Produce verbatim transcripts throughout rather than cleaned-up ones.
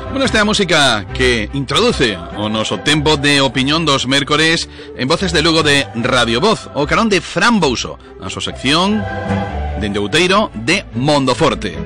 Bueno, esta é a música que introduce o noso tempo de opinión dos mércores en Voces de Lugo de Radio Voz, o carón de Fran Bouso, a súa sección dende Outeiro de Mondoforte.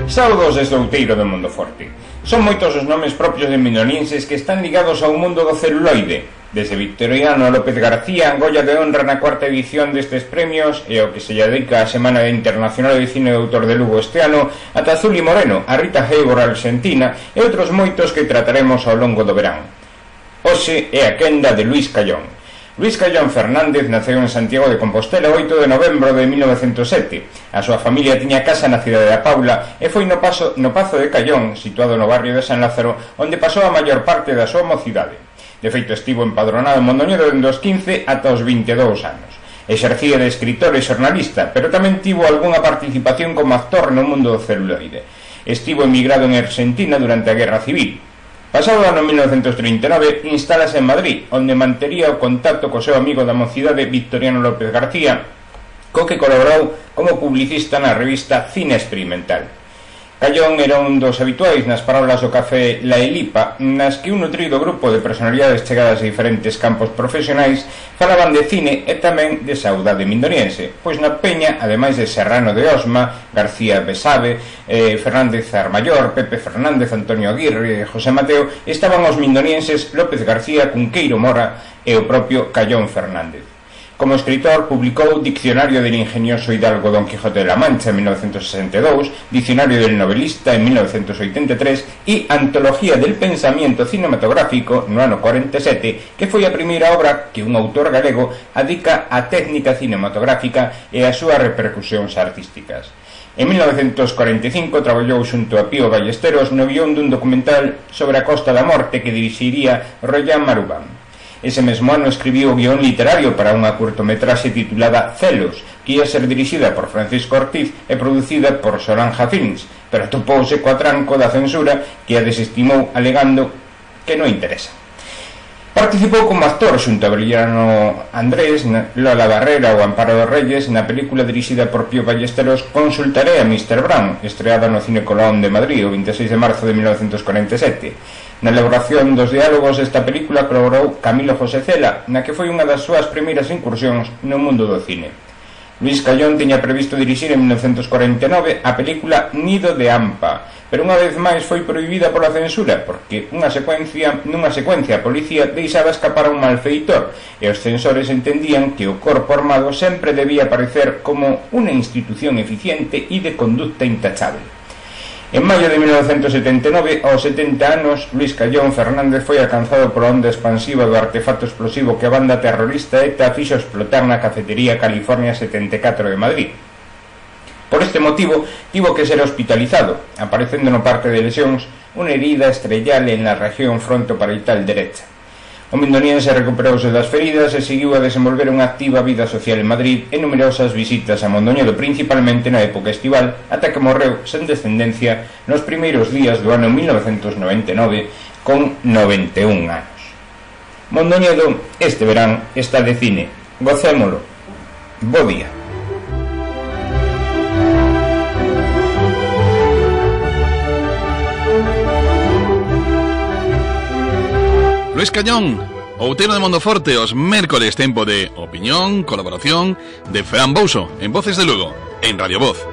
Saudos desde Outeiro de Mondoforte. Son moitos os nomes propios de mindonienses que están ligados ao mundo do celuloide, desde Victoriano López García, Goya de honra na cuarta edición destes premios e ao que se lle dedica a Semana Internacional de Cine de Autor de Lugo este ano, ata Zuli Moreno, a Rita Hayworth argentina e outros moitos que trataremos ao longo do verán. Hoxe é a quenda de Luís Callón. Luís Callón Fernández naceu en Santiago de Compostela o oito de novembro de mil novecentos e sete. A súa familia tiña casa na cidade da Paula e foi no, paso, no Pazo de Callón, situado no barrio de San Lázaro, onde pasou a maior parte da súa mocidade. De feito, estivo empadronado en Mondoñedo dende os quince ata os vinte e dous anos. Exercía de escritor e xornalista, pero tamén tivo algunha participación como actor no mundo do celuloide. Estivo emigrado en Argentina durante a Guerra Civil. Pasado o ano mil novecentos trinta e nove, instálase en Madrid, onde mantería o contacto co seu amigo da mocidade Victoriano López García, co que colaborou como publicista na revista Cine Experimental. Callón era un dos habituais nas parolas do café La Elipa, nas que un nutrido grupo de personalidades chegadas a diferentes campos profesionais falaban de cine e tamén de saudade mindoniense, pois na peña, ademais de Serrano de Osma, García Besabe, eh, Fernández Armallor, Pepe Fernández, Antonio Aguirre e José Mateo, estaban os mindonienses López García, Cunqueiro Mora e o propio Callón Fernández. Como escritor, publicou Diccionario del ingenioso hidalgo Don Quijote de la Mancha en mil novecientos sesenta e dous, Diccionario del novelista en mil novecientos oitenta e tres e Antología del pensamiento cinematográfico no ano cuarenta e sete, que foi a primeira obra que un autor galego adica á técnica cinematográfica e ás súas repercusións artísticas. En mil novecientos cuarenta e cinco traballou xunto a Pío Ballesteros no guión dun documental sobre a Costa da Morte que dirixiría Royan Marubán. Ese mesmo ano escribiu o guión literario para unha curtometraxe titulada Celos, que ia ser dirixida por Francisco Ortiz e producida por Solange Films, pero topouse co atranco da censura que a desestimou alegando que non interesa. Participou como actor xunto a Brillano Andrés, Lola Barrera ou Amparo dos Reyes na película dirixida por Pío Ballesteros Consultaré a mister Brown, estreada no Cine Colón de Madrid o vinte e seis de marzo de mil novecientos cuarenta e sete. Na elaboración dos diálogos desta película colaborou Camilo José Cela, na que foi unha das súas primeiras incursións no mundo do cine. Luís Callón tiña previsto dirixir en mil novecientos cuarenta e nove a película Nido de Ampa, pero unha vez máis foi prohibida pola censura porque unha secuencia, nunha secuencia a policía deixaba escapar a un malfeitor e os censores entendían que o corpo armado sempre debía aparecer como unha institución eficiente e de conducta intachable. En maio de mil novecientos setenta e nove, aos setenta anos, Luís Callón Fernández foi alcanzado pola onda expansiva do artefacto explosivo que a banda terrorista ETA fixo explotar na cafetería California setenta e catro de Madrid. Por este motivo, tivo que ser hospitalizado, aparecendo no parte de lesións unha herida estrellal en la región frontoparietal derecha. O mindoniense recuperouse das feridas e seguiu a desenvolver unha activa vida social en Madrid e numerosas visitas a Mondoñedo, principalmente na época estival, ata que morreu sen descendencia nos primeiros días do ano mil novecientos noventa e nove con noventa e un anos. Mondoñedo este verán está de cine. Gocémolo. Bo día. Luís Callón, Outeiro de Mondoforte, os mércores, tempo de opinión, colaboración de Fran Bouso en Voces de Lugo, en Radio Voz.